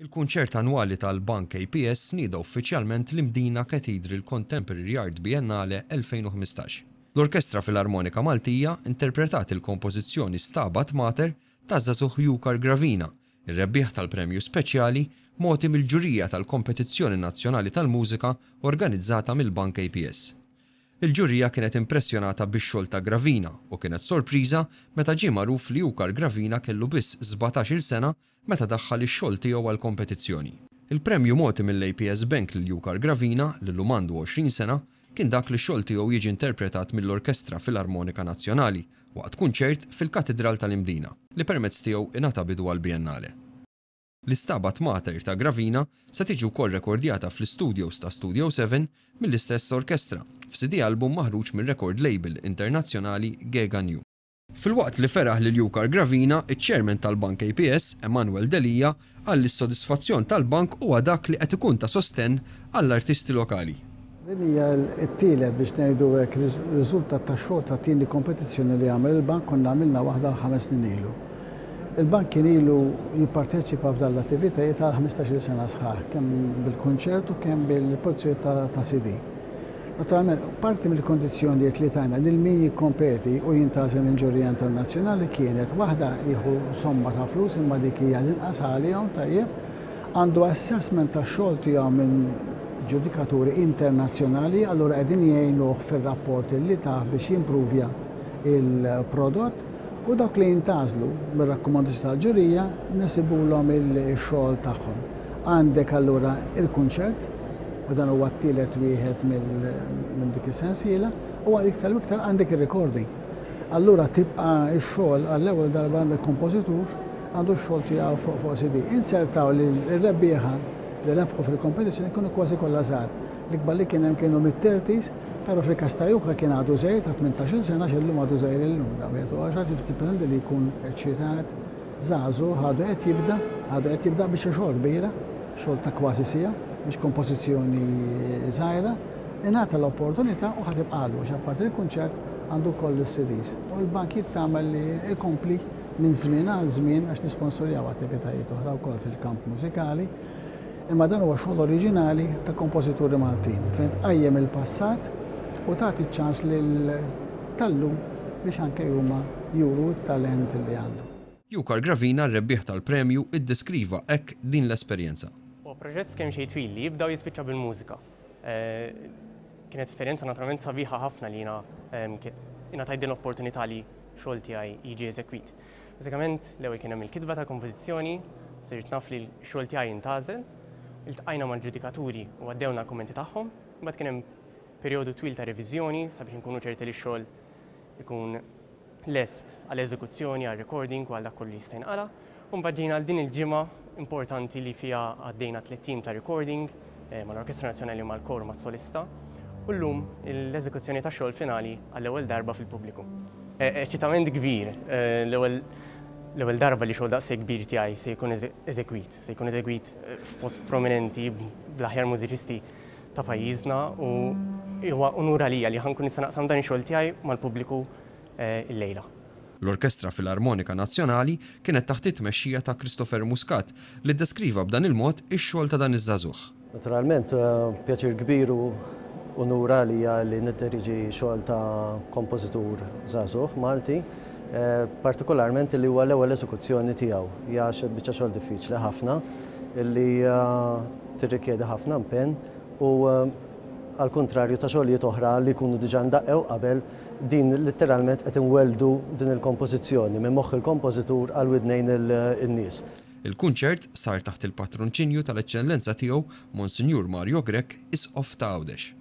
Il-kunċert annwali tal-Bank APS nieda uffiċjalment l-Imdina Cathedral Contemporary Art Biennale 2015. L-Orkestra Filarmonika Maltija interpretat il-kompożizzjoni Stabat Mater taż-żagħżugħ Jukar Gravina, ir-rebbieħ tal-premju speċjali mogħti mill-ġurija tal-Kompetizzjoni Nazzjonali tal-Mużika organizzata mill-Bank APS. Il-ġurija kienet impressjonata bix-xogħol ta' Gravina u kienet sorpriża meta ġie magħruf li Jukar Gravina kellu biss 17-il sena meta daħħal ix-xogħol tiegħu għall-kompetizzjoni. Il-premju mogħti mill-APS Bank lil Jukar Gravina, li llum għandu 20 sena, kien dak li x-xogħol tiegħu jiġi interpretat mill-Orkestra Filarmonika Nazzjonali waqt kunċert fil-Katidral tal-Imdina, li permezz tiegħu ingħata bidu għall-Biennale. L-Istabat Mater ta' Gravina se tiġi wkoll rekordjata fl-istudios ta' Studio 7 mill-istess orkestra, f'CD album maħruġ mir-record label internazzjonali Gega New. Filwaqt li feraħ lil Jukar Gravina, iċ-Chairman tal-Bank APS, Emanuel Delia, qal li s-sodisfazzjon tal-bank huwa dak li qed ikun ta' sostenn għall-artisti lokali. Din hija t-tielet biex ngħidu hekk riżultat ta' xogħol ta' tieni kompetizzjoni li għamel il-bank, konna għamilna waħda 5 snin ilu. Il-bank kien ilu jipparteċipa f'dan l-attivitajiet għal 15-il sena sħaħ, kemm bil-kunċert u kemm bil-produzzjoni ta' CD. Naturalment, parti mill-kondizzjonijiet li tajna lil min jikkompeti u jintgħażel minn ġurija internazzjonali kienet waħda jieħu somma ta' flus imma dik hija l-inqas għalihom tajjeb, għandu assessment tax-xogħol tiegħu minn ġudikaturi internazzjonali, allura qegħdin jgħinuh fir-rapport li tah biex jimpruvja il-prodott u dawk li jintgħażlu mir-rakkomandazzjoni tal-ġurija nesibulhom il-xogħol tagħhom. Għandek allura il-kunċert, u dan huwa t-tielet wieħed minn dik is-sensiela, u għal iktar u iktar għandek ir-recording. Allura tibqa' x-xogħol għall-ewwel darba għandek kompożitur għandu x-xogħol tiegħu fuq fuq CD. Insertaw li r-rebbieħa li rebħu fil-kompetizzjoni kienu kważi kollha żgħar. L-ikbar li kien hemm kienu mid-30s, però fil-każ ta' Juka kien għadu żgħir ta' 18-il sena għax illum għadu żgħir illum da wieħed u għax tippretendi li jkun eċċitat, żagħżugħ għadu qed jibda, għadu qed jibda biċċa xogħol kbira, xogħol ta' kważi siegħa, mhix kompożizzjoni żgħira, ingħata l-opportunità u ħa tibqagħlu għax apparti l-kunċert għandu wkoll is-CDs. U l-bank jittama li jkompli minn żmien għal żmien għax nisponsorjaw attivitajiet oħra wkoll fil-kamp mużikali, imma dan huwa xogħol oriġinali ta' kompożituri Maltin fejn tqajjem il-passat u tagħti ċ-ċans lil tal-lum biex anke huma juru t-talent li għandhom. Jukar Gravina, r-rebbieħ tal-premju, iddeskriva hekk din l-esperjenza. Huwa proġett kemm xejn twil li jibda u jispiċċa bil-mużika. Kienet esperjenza naturalment sabiħa ħafna li jiena ingħatajt din l-opportunità li xogħol tiegħi jiġi eżekwit. Bażikament l-ewwel kien hemm il-kitba tal-kompożizzjoni, sirt naf li x-xogħol tiegħi intgħażel, iltqajna mal-ġudikaturi u għaddewna l-kummenti tagħhom, imbagħad kien hemm perjodu twil ta' reviżjoni sabiex inkunu ċerti li x-xogħol ikun lest għal eżekuzzjoni, għal recording u għal dak kollu li jista' jinqala'. U mbagħad ġejna għal din il-ġimgħa importanti li fiha għaddejna tlett ijiem ta' recording eh, mal-Orkestra Nazzjonali mal-kor mas-solista u llum l-eżekuzzjoni ta' xogħol finali għall-ewwel darba fil-pubbliku. Eh, eċitament kbir, eh, l-ewwel l-ewwel darba li xogħol daqshekk kbir tiegħi se jkun eżegwit, se jkun eżegwit f'post prominenti bl-aħjar mużiċisti ta' pajjiżna u huwa unur għalija li ħa nkun nista' naqsam dan ix-xogħol tiegħi mal-pubbliku illejla. L-Orkestra Filarmonika Nazzjonali kienet taħt it-tmexxija ta' Christopher Muscat li ddeskriva b'dan il-mod ix-xogħol ta' dan iż-żagħżugħ. Naturalment, pjaċir kbir u unur għalija li nidderieġi xogħol ta' kompożitur żagħżugħ Malti, partikolarment li huwa l-ewwel eżekuzzjoni tiegħu. Hija biċċa xogħol diffiċli ħafna li tirrikjedi ħafna impenn u għall-kuntrarju ta' xogħlijiet oħra li jkunu diġà ndaqqew qabel, din litteralment qed inwelldu din il-kompożizzjoni minn moħħ il-kompożitur għal widnejn in-nies. Il-kunċert sar taħt il-patronċinju tal-Eċċellenza Tiegħu Monsinjur Mario Grech, Isqof ta' Għawdex.